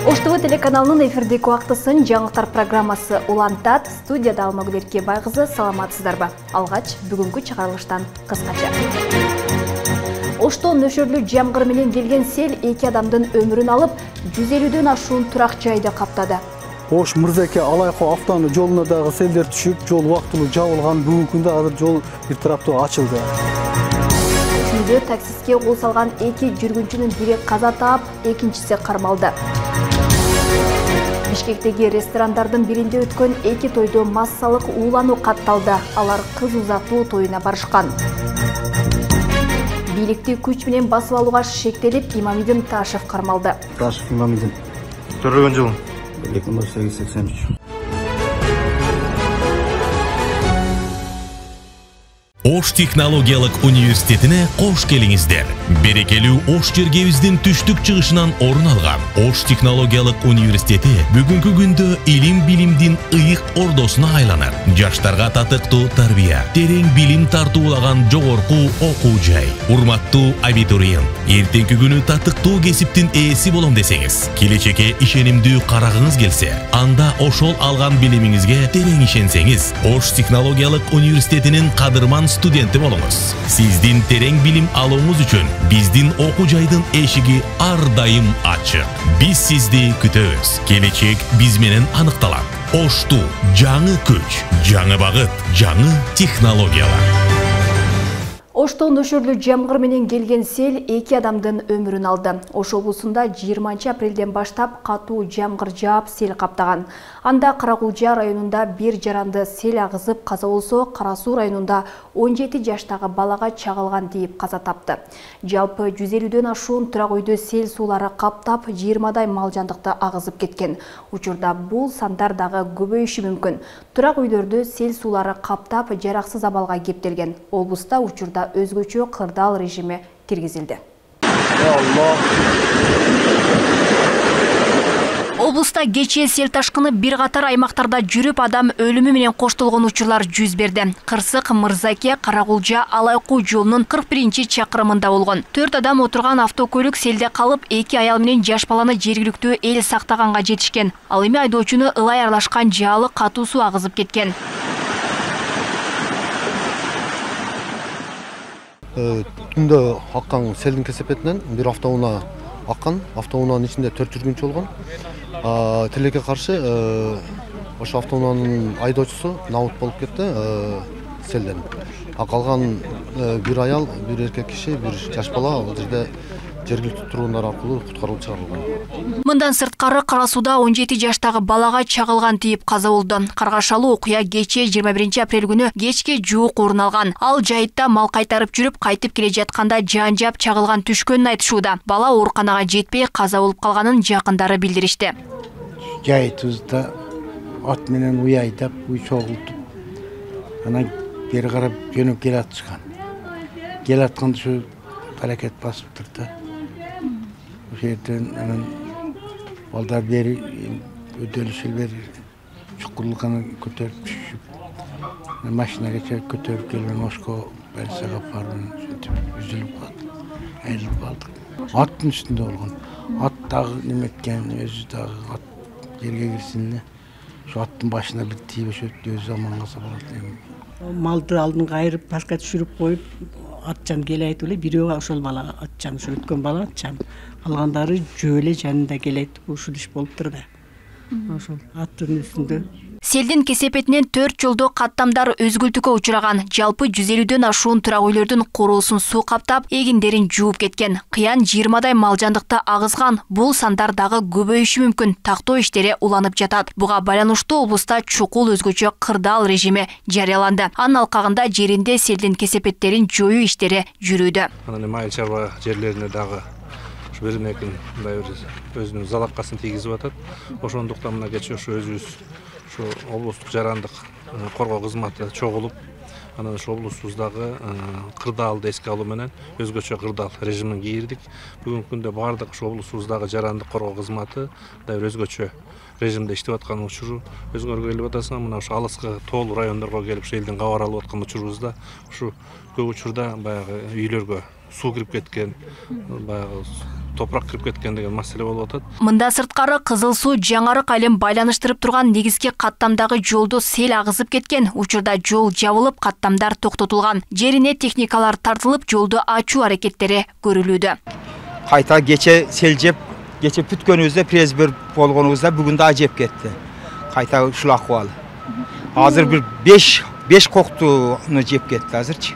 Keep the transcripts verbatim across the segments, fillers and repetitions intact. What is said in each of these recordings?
Ош ТВ телеканалынын эфирдеги убактысын жаңылыктар программасы улантат. Студияда Алмагүл Эркебай кызы, саламатсыздарбы? Алгач бүгүнкү чыгарылыштан кыскача. Ошто нөшөрлүү жамгыр менен келген сел эки адамдын өмүрүн алып, жүз элүүдөн ашуун турак жайды каптады. Ош Мырзаке Алайкы автоунаа жолуна дагы селдер түшүп, жол убактылуу жабылган. Бүгүнкү күндө азыр жол бир тараптуу ачылды. Түндө таксиске кол салган эки жүргүнчүнүн бири каза таап, экинчиси кармалды. Бишкектеги ресторандардын биринде өткөн эки тойдо массалык уулануу катталды. Алар кыз узатуу тоюна барышкан. Бийликти күч менен басып алууга шектелип, Имамидин Ташев кармалды. Ташев Имамидин. Төрөгөн жылы эки миң сегиз сексен үч. Ош технологиялык университетине кош келиңиздер. Берекелүү Ош жергебиздин түштүк чыгышынан орун алган Ош технологиялык университети бүгүнкү күндө илим билимдин ыйык ордосуна айланат. Жаштарга татыктуу тарбия, терең билим тартуулаган жогорку окуу жай. Урматтуу абитуриент, эртеңки күнү татыктуу кесиптин ээси болом десеңиз, келечекке ишенимдүү карагыңыз келсе, анда ошол алган билимиңизге терең ишенсеңиз, Ош технологиялык университетинин кадырман студенти болуңуз. Сиздин терең билим алууңуз үчүн биздин окуу жайдын эшиги ар дайым ачык. Биз сизди күтөбүз. Келечек биз менен аныкталат. Ошту жаңы күч, жаңы багыт, жаңы технологиялар. Ошто нөшөрлүү жамгыр менен келген сел эки адамдын өмүрүн алды. Ош облусунда жыйырманчы апрелден баштап катуу жамгыр жаап, сел каптаган. Анда Каракулжа районунда бир жаранды сел агызып каза болсо, Кара Суу районунда он жети жаштагы балага чагылган дейип каза тапты. Жалпы жүз элүүдөн ашуун турак үйдө сел суулары каптап, жыйырмадай мал жандыкты агызып кеткен. Учурда бул сандар дагы көбөйүшү мүмкүн. Турак үйлөрдө сел суулары каптап, жараксыз абалга кептелген. Облуста учурда өзгөчө кырдаал режими киргизилди. Облуста кечээ сел ташкыны бир катар аймактарда жүрүп, адам өлүмү менен коштолгон учурлар жүз берди. Кырсык Мырзаке Каракулжа Алайкуу жолунун кырк биринчи чакырымында болгон. төрт адам отурган автокөлүк селде калып, эки аял менен жаш баланы жергиликтүү эл сактаганга жетишкен. Ал эми айдоочуну ылай аралашкан жаалы катуу суу агызып кеткен. Түндө аккан селдин кесепетинен бир автоунаа аккан. Автоунаанын ичинде төрт жүргүнчү болгон. Тилекке каршы ошо автоунаанын айдоочусу набут болуп кетти селден. А калган бир аял, бир эркек киши, бир жаш бала ал жерде жергиликтүү тургундар аркылуу куткарылып чыгарылган. Мындан сырткары Кара Сууда он жети жаштагы балага чагылган дейип каза болду. Каргашалуу окуя кечээ жыйырма биринчи апрель күнү кечке жуук орун алган. Ал жайытта мал кайтарып жүрүп, кайтып келе жатканда жан жап чагылган түшкөнүн айтышууда. Бала ооруканага жетпей каза болуп калганын жакындары билдиришти. Жайытыбызда ат менен уй айдап, уй чогултуп, анан бери карап жөнөп келатышкан. Келатканда ушу аракет басыптыр да. Ошол жерден анан балдар бери өдөлүшүл бери чукурлуканы көтөрүп түшүп, машинага көтөрүп келген Ошко больницага апарып, ушинтип үзүлүп калды, айрылып калдык. Аттын үстүндө болгон. Ат дагы неметкен, өзү дагы ат жерге кирсин эле. Ошо аттын башына бир тийип өшөп өзү аман калса болот. Малды алдынга айырып, башка түшүрүп коюп, атчан келе айтып эле, бирөө ошол бала атчан, ошо өткөн бала атчан. Калгандары жөө эле жанында келе айтып, ушул иш болуптур да. Ошол аттын үстүндө. Селдин кесепетинен төрт жолдо каттамдар өзгөлтүүгө учураган. Жалпы жүз элүүдөн ашуун турак үйлөрдүн короосун суу каптап, эгиндерин жууп кеткен. Кыян жыйырмадай мал жандыкты агызган. Бул сандар дагы көбөйүшү мүмкүн. Тактоо иштери уланып жатат. Буга байланыштуу облуста чукул өзгөчө кырдаал режими жарыяланды. Анын алкагында жеринде селдин кесепеттерин жоюу иштери жүрүүдө. Анан майыл чарба жерлерине дагы бирине экин мындай бир өзүнүн залапкасын тийгизип атат. Ошондуктан мына кечээ ошо өзүбүз ошо облустук жарандык коргоо кызматы чогулуп, анан ошо облусубуздагы кырдаалды эске алуу менен өзгөчө кырдаал режимин кийирдик. Бүгүнкү күндө бардык ошо облусубуздагы жарандык коргоо кызматы да бир өзгөчө режимде иштеп аткан учуру өзгөргө келип атасың. Мына ошо алыскы тоолуу райондорго келип ошо элдин кабар алып аткан учурубузда ушу көп учурда баягы үйлөргө суу кирип кеткен, баягы топурак кирип кеткен деген маселе болуп атат. Мында сырткары Кызыл суу Жаңарык айылын байланыштырып турган негизги каттамдагы жолду сел агызып кеткен. Учурда жол жабылып, каттамдар токтотулган. Жерине техникалар тартылып, жолду ачуу аракеттери көрүлүүдө. Кайта кече сел жеп, кече бүткөнүбүздө презбер болгонубузда бүгүн да ажеп кетти. Кайта ушул акыбал. Азыр бир беш беш коктуну жеп кетти азырчы.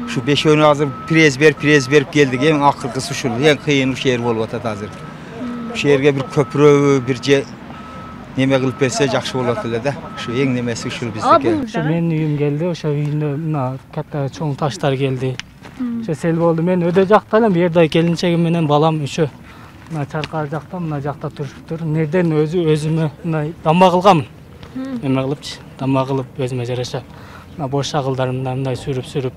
Şu beşöğünü hazır prez ver, prez verip geldik. En akırkısı şu, en kıyın şu yer bolup atat hazır. Şu yerge bir köprü, bir ce neme kılıp berse jakşı bolup atıldı da. Şu en nemesi şu bizdeki. Şu men uyum geldi, oşa uyunda mına katta çoğun taşlar geldi. Şu sel boldu, men öde jaktayım, bir yerde gelinçegim menen balam şu. Mına çarkar jakta, mına jakta turuptur. Nereden özü özümü mına damba kılgamın. Neme kılıpçı, damba kılıp özüme jaraşa. Mına boş şagıldarımdan mınдай sürüp-sürüp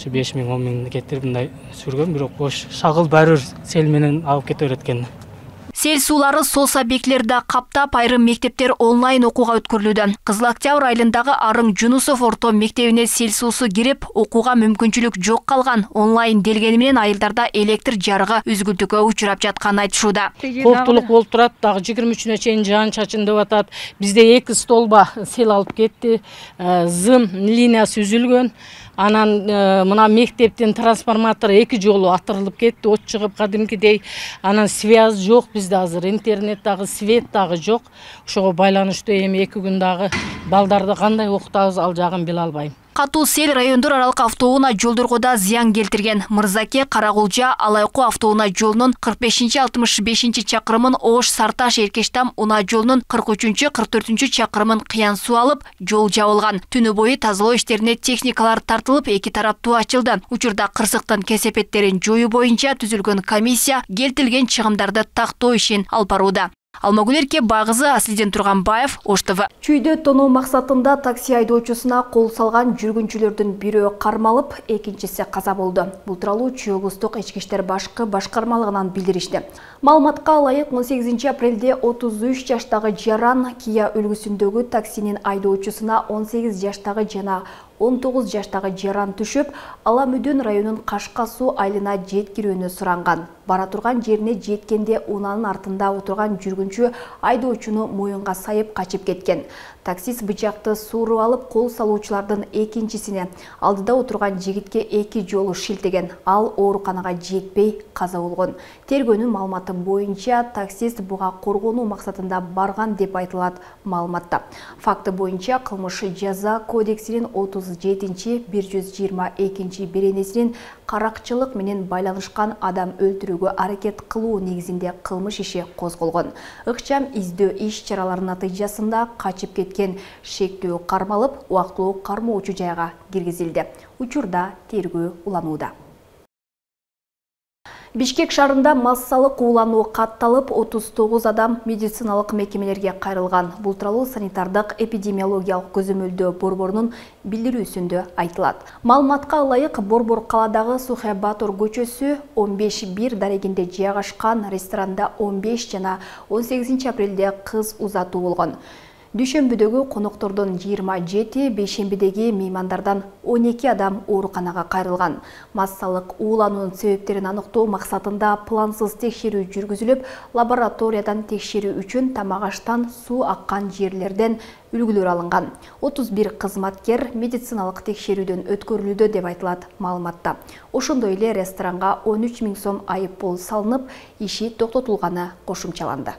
şu beş ming on ming кетирип мындай сүргөн, бирок бош шагыл баары сел менен алып кете берет экен. Сел суулары сос объектилерди каптап, айрым мектептер онлайн окууга өткөрүлүүдө. Кызыл Октябрь айылындагы Арың Жунусов орто мектебине сел суусу кирип, окууга мүмкүнчүлүк жок калган. Онлайн делгени менен айылдарда электр жарыгы үзгүлтүүгө учурап жатканын айтышууда. Коптулук болуп турат, дагы жыйырма үчүнө чейин жаан чачын деп атат. Бизде эки столба сел алып кетти. Зым линиясы үзүлгөн. Анан мына мектептин трансформатору эки жолу атырылып кетти, от чыгып кадимкидей. Анан связь жок бизде азыр, интернет дагы, свет дагы жок. Ошого байланыштуу эми эки күн дагы балдарды кандай окутабыз, ал жагын биле албайм. Катуу сел райондор аралык автоунаа жолдорго да зыян келтирген. Мырзаке Карагулжа Алайкуу автоунаа жолунун кырк бешинчи алтымыш бешинчи чакырымын, Ош Сарташ Эркештам унаа жолунун кырк үчүнчү кырк төртүнчү чакырымын кыян суу алып, жол жабылган. Түнү бою тазалоо иштерине техникалар тартылып, эки тараптуу ачылды. Учурда кырсыктын кесепеттерин жоюу боюнча түзүлгөн комиссия келтирилген чыгымдарды тактоо ишин алып барууда. Алмагүл Эрке Багызы, Аслиден Турганбаев, Ош ТВ. Чүйдө тоноо максатында такси айдоочусуна кол салган жүргүнчүлөрдүн бирөө кармалып, экинчиси каза болду. Бул тууралуу Чүй облустук ички иштер башкы башкармалыгынан билдиришти. Маалыматка ылайык он сегизинчи апрелде отуз үч жаштагы жаран Kia үлгүсүндөгү таксинин айдоочусуна он сегиз жаштагы жана он тогуз жаштагы жаран түшүп, Ала Мүдөн районунун Кашка суу айылына жеткирүүнү суранган. Бара турган жерине жеткенде унаанын артында отурган жүргүнчү айдоочуну моюнга сайып качып кеткен. Таксист бычакты сууруп алып, кол салуучулардын экинчисине, алдыда отурган жигитке эки жолу шилтеген. Ал ооруканага жетпей каза болгон. Тергөөнүн маалыматы боюнча таксист буга коргонуу максатында барган деп айтылат маалыматта. Факты боюнча кылмыш жаза кодексинин отуз жетинчи бир жүз жыйырма экинчи беренесинин каракчылык менен байланышкан адам өлтүрүүгө аракет кылуу негизинде кылмыш иши козголгон. Ыкчам издөө иш чараларынын натыйжасында качып кеткен шектүү кармалып, убактылуу кармоочу жайга киргизилди. Учурда тергөө уланууда. Бишкек шаарында массалык уулануу катталып, отуз тогуз адам медициналык мекемелерге кайрылган. Бул тууралуу санитардык эпидемиологиялык көзөмөлдөө борборунун билдирүүсүндө айтылат. Маалыматка ылайык, Борбор каладагы Сухэ Батор көчөсү он беш бир дарегинде жайгашкан ресторанда он беш жана он сегизинчи апрелде кыз узатуу болгон. Дүйшөмбүдөгү коноктордон жыйырма жети, бейшембидеги меймандардан он эки адам ооруканага кайрылган. Массалык уулануунун себептерин аныктоо максатында плансыз текшерүү жүргүзүлүп, лабораториядан текшерүү үчүн тамак аштан суу аккан жерлерден үлгүлөр алынган. отуз бир кызматкер медициналык текшерүүдөн өткөрүлүүдө деп айтылат маалыматта. Ошондой эле ресторанга он үч миң сом айып пул салынып, иши токтотулганы кошумчаланды.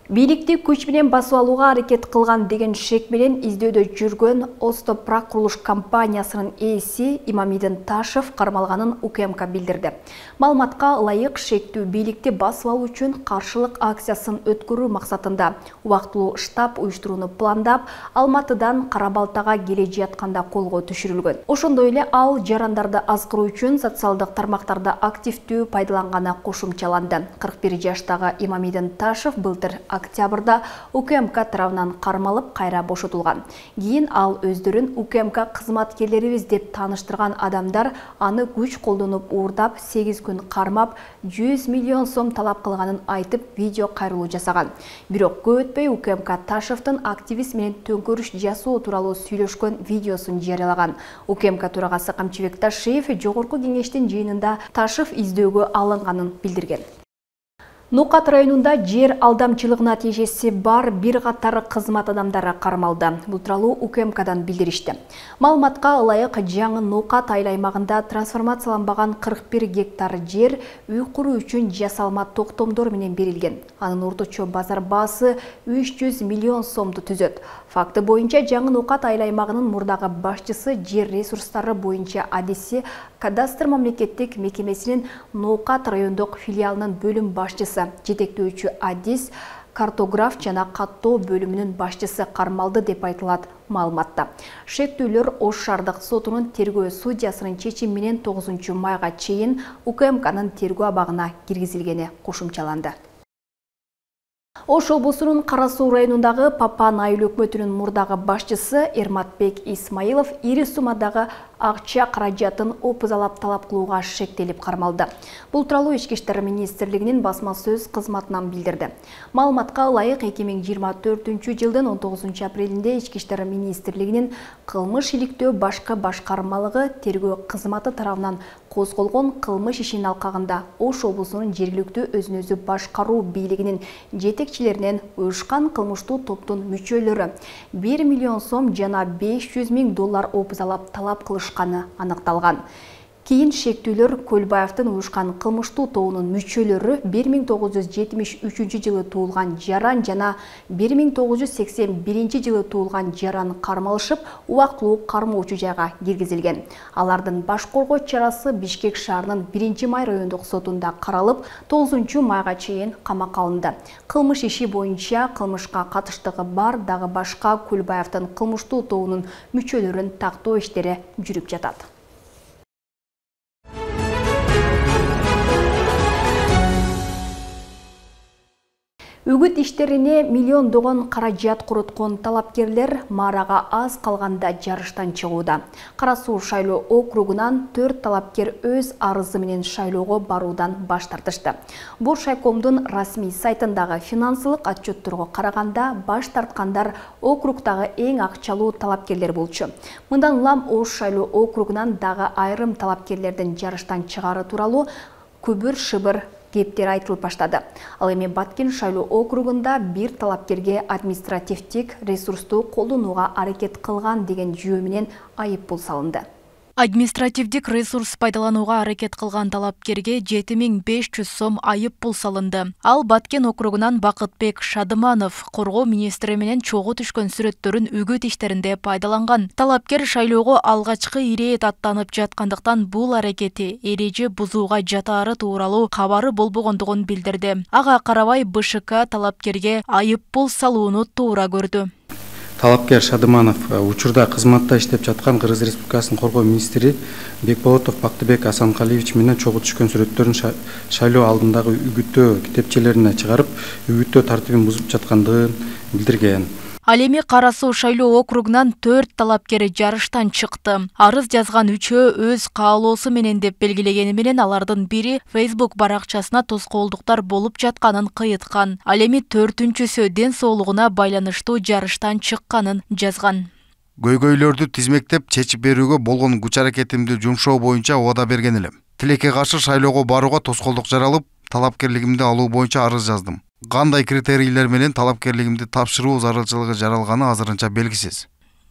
Бийликти күч менен басып алууга аракет кылган деген шек менен издөөдө жүргөн Остопрак курулуш компаниясынын ээси Имамидин Ташев кармалганын УКМК билдирди. Маалыматка ылайык, шектүү бийликти басып алуу үчүн каршылык акциясын өткөрүү максатында убактылуу штаб уюштурууну пландап, Алматыдан Карабалтага келе жатканда колго түшүрүлгөн. Ошондой эле ал жарандарды азгыруу үчүн социалдык тармактарды активдүү пайдаланганы кошумчаланды. кырк бир жаштагы Имамидин Ташев былтыр октябрда УКМК тарабынан кармалып кайра бошотулган. Кийин ал өздөрүн УКМК кызматкерлерибиз деп тааныштырган адамдар аны күч колдонуп уурдап сегиз күн кармап жүз миллион сом талап кылганын айтып видео кайрылуу жасаган. Бирок көп өтпөй УКМК Ташевдин активист менен төңкөрүш жасоо тууралуу сүйлөшкөн видеосун жарыялаган. УКМК төрагасы Камчыбек Ташиев жогорку кеңештин жыйынында Ташев издөөгө алынганын билдирген. Нукат районунда жер алдамчылыгына тиешеси бар бир катар кызмат адамдары кармалды. Бул тууралуу УКМКдан билдиришти. Маалыматка ылайык жаңы Нукат айыл аймагында трансформацияланбаган кырк бир гектар жер үй куруу үчүн жасалма токтомдор менен берилген. Анын орточо базар баасы үч жүз миллион сомду түзөт. Факты боюнча жаңы Нукат айыл аймагынын мурдагы башчысы жер ресурстары боюнча адиси кадастр мамлекеттик мекемесинин Нукат райондук филиалынын бөлүм башчысы, жетектөөчү адис, картограф жана каттоо бөлүмүнүн башчысы кармалды деп айтылат маалыматта. Шектүүлөр Ош шаардык сотунун тергөө судьясынын чечими менен тогузунчу майга чейин УКМКнын тергөө абагына киргизилгени кошумчаланды. Ош облусунун Кара Суу районундагы Папан айыл өкмөтүнүн мурдагы башчысы Эрматбек Исмаилов ири суммадагы акча каражатын опузалап талап кылууга шектелип кармалды. Бул тууралуу Ички иштер министрлигинин басма сөз кызматынан билдирди. Маалыматка ылайык эки миң жыйырма төртүнчү жылдын он тогузунчу апрелинде Ички иштер министрлигинин кылмыш иликтөө башкы башкармалыгы тергөө кызматы тарабынан козголгон кылмыш ишинин алкагында Ош облусунун жергиликтүү өзүн өзү башкаруу бийлигинин жетекчилеринен уюшкан кылмыштуу топтун мүчөлөрү бир миллион сом жана беш жүз миң доллар опузалап талап кылышканы аныкталган. Кийин шектүүлөр Көлбаевдин уюшкан кылмыштуу тобунун мүчөлөрү бир миң тогуз жүз жетимиш үчүнчү жылы туулган Жаран жана бир миң тогуз жүз сексен биринчи жылы туулган Жаран кармалышып, убактылуу кармоочу жайга киргизилген. Алардын баш коргоо чарасы Бишкек шаарынын биринчи май райондук сотунда каралып, тогузунчу майга чейин камакка алынды. Кылмыш иши боюнча кылмышка катыштыгы бар дагы башка Көлбаевдин кылмыштуу тобунун мүчөлөрүн тактоо иштери жүрүп жатат. Үгүт иштерине миллиондогон каражат куруткон талапкерлер марага аз калганда жарыштан чыгууда. Кара Суу шайлоо округунан төрт талапкер өз арызы менен шайлоого баруудан баш тартышты. Боршайкомдун расмий сайтындагы финансылык отчетторго караганда баш тарткандар округдагы эң акчалуу талапкерлер болчу. Мындан улам Ош шайлоо округунан дагы айрым талапкерлердин жарыштан чыгары тууралуу күбүр-шыбыр кептер айтылып баштады. Ал эми Баткен шайлоо округунда бир талапкерге административдик ресурсту колдонууга аракет кылган деген жөө менен айып пул салынды. Административдик ресурс пайдаланууга аракет кылган талапкерге жети миң беш жүз сом айып пул салынды. Ал Баткен округунан Бакытбек Шадыманов коргоо министри менен чогуу түшкөн сүрөттөрүн үгүт иштеринде пайдаланган. Талапкер шайлоого алгачкы ирээт аттанып жаткандыктан бул аракети эреже бузууга жатаары тууралуу кабары болбогондугун билдирди. Ага карабай Б Ш К талапкерге айып пул салууну туура көрдү. Талапкер Шадыманов учурда кызматта иштеп жаткан Кыргыз Республикасынын коргоо министри Бекболотов Бактыбек Асанкалиевич менен чогуу түшкөн сүрөттөрүн шайлоо алдындагы үгүттөө китепчелерине чыгарып, үгүттөө тартибин бузуп жаткандыгын билдирген. Ал эми Кара Суу шайлоо округунан төрт талапкер жарыштан чыкты. Арыз жазган үчөө өз каалоосу менен деп белгилегени менен алардын бири Facebook баракчасына тоскоолдуктар болуп жатканын кыйыткан. Ал эми төртүнчүсү ден соолугуна байланыштуу жарыштан чыкканын жазган. Көйгөйлөрдү тизмектеп чечип берүүгө болгон күч аракетимди жумшоо боюнча убада берген элем. Тилекке каршы шайлоого барууга тоскоолдук жаралып, талапкерлигимди алуу боюнча арыз жаздым. Кандай критерийлер менен талапкерлигимди тапшыруу зарылчылыгы жаралганы азырынча белгисиз.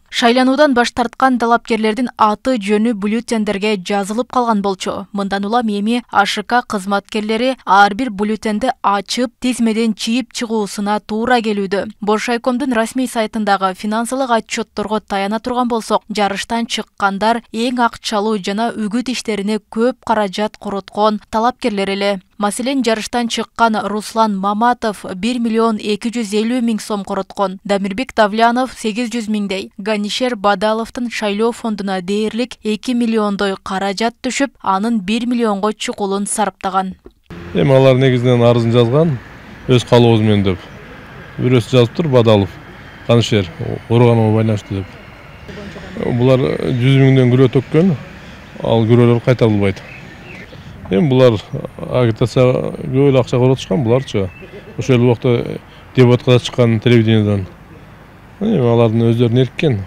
Шайлануудан баш тарткан талапкерлердин аты жөнү бюллетендерге жазылып калган болчу. Мындан улам эми А Ш К кызматкерлери ар бир бюллетенди ачып, тизмеден чийип чыгуусуна туура келүүдө. Боршайкомдун расмий сайтындагы финансылык отчетторго таяна турган болсок, жарыштан чыккандар эң акчалуу жана үгүт иштерине көп каражат куруткон талапкерлер эле. Маселен, жарыштан чыккан Руслан Маматов бир миллион эки жүз элүү миң сом короткон, Дамирбек Тавлянов сегиз жүз миңдей, Ганишер Бадаловдун шайлоо фондуна дээрлик эки миллиондой каражат түшүп, анын бир миллионго чукулун сарптаган. Эми алар негизинен арызын жазган, өз каалообуз менен деп. бирөөсү жазыптыр, Бадалов, Канышер, ооруганга байланыштуу деп. Булар жүз миңден күрөө төккөн, ал күрөөлөр кайтарылбайт. Эми булар агитация көп эле акча коротушкан буларчы. Ошол эле убакта дебатка да чыккан телевидениеден. Эми алардын өздөрүнө эрккен.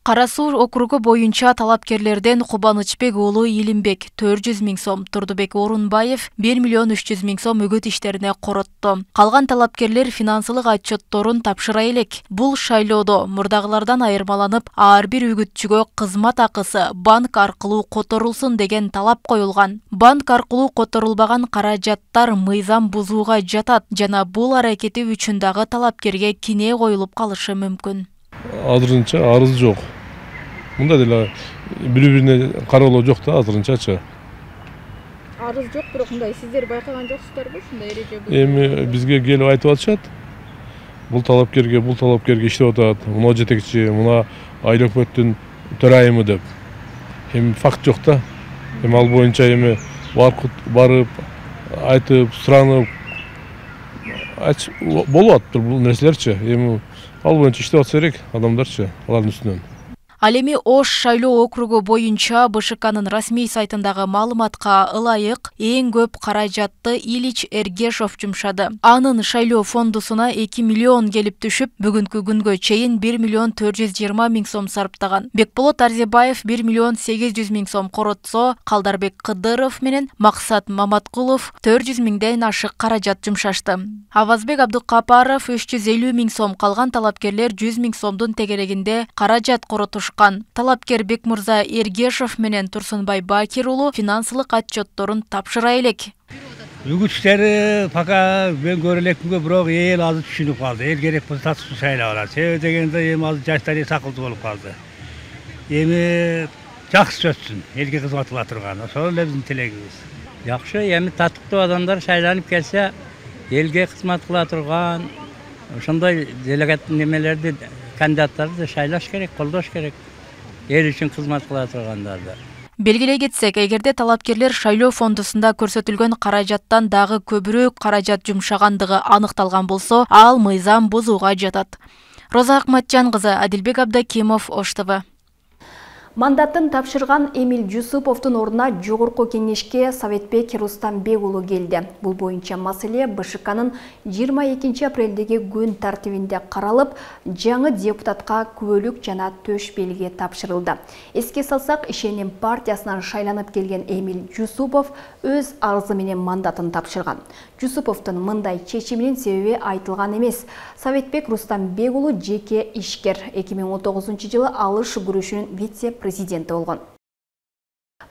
Кара Суу округу боюнча талапкерлерден Кубанычбек уулу Илимбек төрт жүз миң сом, Турдубек Орунбаев бир миллион үч жүз миң сом үгүт иштерине коротту. Калган талапкерлер финансылык отчетторун тапшыра элек. Бул шайлоодо мурдагылардан айырмаланып, ар бир үгүтчүгө кызмат акысы банк аркылуу которулсун деген талап коюлган. Банк аркылуу которулбаган каражаттар мыйзам бузууга жатат жана бул аракети үчүн дагы талапкерге кине коюлуп калышы мүмкүн. Азырынча арыз жок. Мында деле бири-бирине кароолоо жок да азырынчачы. Арыз жок, бирок мындай сиздер байкаган жоксуздарбы ушундай эреже? Эми бизге келип айтып атышат. Бул талапкерге, бул талапкерге иштеп атат. Мына жетекчи, мына айыл өкмөттүн төрайымы деп. Эми факт жок да. Эми ал боюнча эми барып, айтып, суранып болуп атыптыр бул нерселерчи. Эми ал боюнча иштеп атса керек адамдарчы, алардын үстүнөн. Ал эми Ош шайлоо округу боюнча БШКнын расмий сайтындагы маалыматка ылайык эң көп каражатты Ильич Эргешов жумшады. Анын шайлоо фондусуна эки миллион келип түшүп, бүгүнкү күнгө чейин бир миллион төрт жүз жыйырма миң сом сарптаган. Бекболот Арзебаев бир миллион сегиз жүз миң сом коротсо, Калдарбек Кыдыров менен Максат Маматкулов төрт жүз миңден ашык каражат жумшашты. Авазбек Абдыкапаров үч жүз элүү миң сом, калган талапкерлер жүз миң сомдун тегерегинде каражат коротуш. Талапкер Бекмурза Эргешов менен Турсунбай Бакир уулу финансылык отчетторун тапшыра элек. Үгүт иштери пока мен көрө элекминге, бирок эл азыр түшүнүп калды. Эл керек болсо татыштуу шайлап алат. Себеби дегенде эми азыр жаштар сакылдуу болуп калды. Эми жакшы өтсүн, элге кызмат кыла турган. Ошол эле биздин тилегибиз. Жакшы, эми татыктуу адамдар шайланып келсе, элге кызмат кыла турган ошондой делегат немелерди, кандидаттарды шайлаш керек, колдош керек. Эл үчүн кызмат кыла тургандарды. Белгилей кетсек, эгерде талапкерлер шайлоо фондусунда көрсөтүлгөн каражаттан дагы көбүрөөк каражат жумшагандыгы аныкталган болсо, ал мыйзам бузууга жатат. Роза Акматжан кызы, Адилбек Абдакимов, Ош ТВ. Мандатын тапшырган Эмиль Жусуповдун ордуна жогорку кеңешке Советбек Рустамбек уулу келди. Бул боюнча маселе БШКнын жыйырма экинчи апрелдеги күн тартибинде каралып, жаңы депутатка күбөлүк жана төш белги тапшырылды. Эске салсак, Ишеним партиясынан шайланып келген Эмиль Жусупов өз арызы менен мандатын тапшырган. Жусуповдун мындай чечиминин себеби айтылган эмес. Советбек Рустамбек уулу жеке ишкер, эки миң он тогузунчу жылы алыш күрөшүнүн вице-президенти болгон.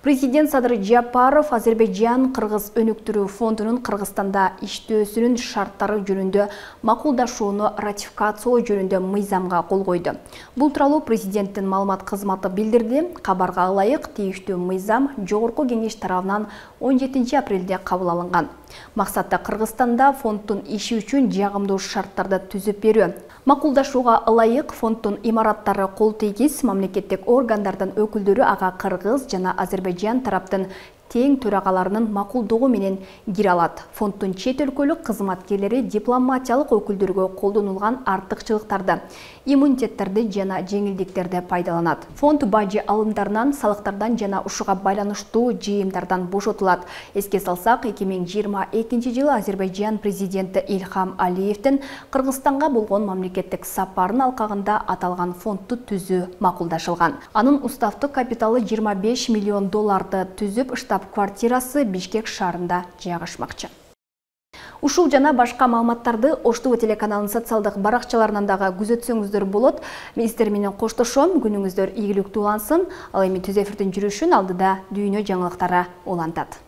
Президент Садыр Жапаров Азербайжан Кыргыз өнүктүрүү фондунун Кыргызстанда иштөөсүнүн шарттары жөнүндө макулдашууну ратификациялоо жөнүндө мыйзамга кол койду. Бул тууралуу президенттин маалымат кызматы билдирди. Кабарга ылайык, тийиштүү мыйзам жогорку кеңеш тарабынан он жетинчи апрелде кабыл алынган. Максаты Кыргызстанда фонддун иши үчүн жагымдуу шарттарды түзүп берүү. Макулдашууга ылайык фонддун имараттары кол тийгиз, мамлекеттик органдардын өкүлдөрү ага Кыргыз жана Азербайжан тараптын тең төрагаларынын макулдугу менен кире алат. Фонддун чет өлкөлүк кызматкерлери дипломатиялык өкүлдөргө колдонулган артыкчылыктарды, иммунитеттерди жана жеңилдиктерди пайдаланат. Фонд бажы алымдарынан, салыктардан жана ушуга байланыштуу жыйымдардан бошотулат. Эске салсак, эки миң жыйырма экинчи жылы Азербайжан президенти Ильхам Алиевдин Кыргызстанга болгон мамлекеттик сапарын алкагында аталган фондду түзүү макулдашылган. Анын уставдык капиталы жыйырма беш миллион долларды түзүп, штаб-квартирасы Бишкек шаарында жайгашмакчы. Ушул жана башка маалыматтарды Ош ТВ телеканалынын социалдык баракчаларынан дагы күзөтсөңүздөр болот. Мен сиздер менен коштошом, күнүңүздөр ийгиликтүү улансын. Ал эми түз эфирдин жүрүшүн алдыда дүйнө жаңылыктары улантат.